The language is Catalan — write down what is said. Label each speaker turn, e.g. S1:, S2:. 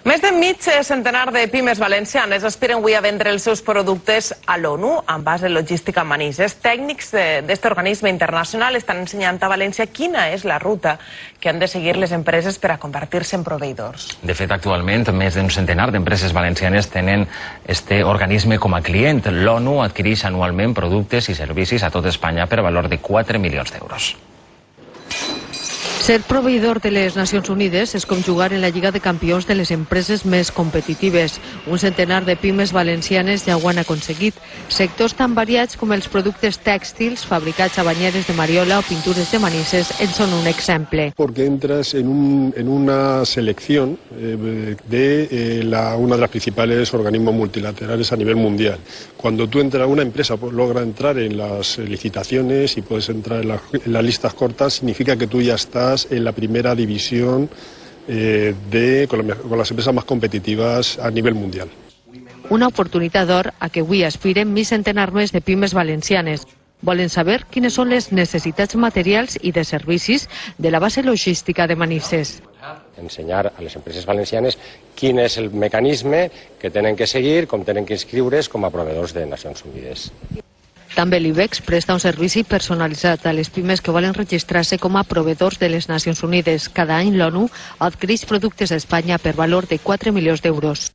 S1: Més de mig centenar de pimes valencianes aspiren avui a vendre els seus productes a l'ONU amb base logística a Manises. Tècnics d'aquest organisme internacional estan ensenyant a València quina és la ruta que han de seguir les empreses per a convertir-se en proveïdors.
S2: De fet, actualment, més d'un centenar d'empreses valencianes tenen este organisme com a client. L'ONU adquireix anualment productes i servicis a tot Espanya per valor de 4 milions d'euros.
S3: Ser proveïdor de les Nacions Unides és com jugar en la Lliga de Campions de les empreses més competitives. Un centenar de pimes valencianes ja ho han aconseguit. Sectors tan variats com els productes tèxtils, fabricats a banyeres de Mariola o pintures de Manises en són un exemple.
S4: Porque entras en una selección de una de las principales organismos multilaterales a nivel mundial. Cuando tú entras, una empresa logra entrar en las licitaciones y puedes entrar en las listas cortas, significa que tú ya estás en la primera división con las empresas más competitivas a nivel mundial.
S3: Una oportunitat d'or a què avui aspiren mig centenar més de pimes valencianes. Volen saber quines són les necessitats materials i de servicis de la base logística de Manises.
S5: Ensenyar a les empreses valencianes quin és el mecanisme que tenen que seguir, com tenen que inscriure's com a proveïdors de Nacions Unides.
S3: També l'IBEX presta un servici personalitzat a les pimes que volen registrar-se com a proveïdors de les Nacions Unides. Cada any l'ONU adquireix productes a Espanya per valor de 4 milions d'euros.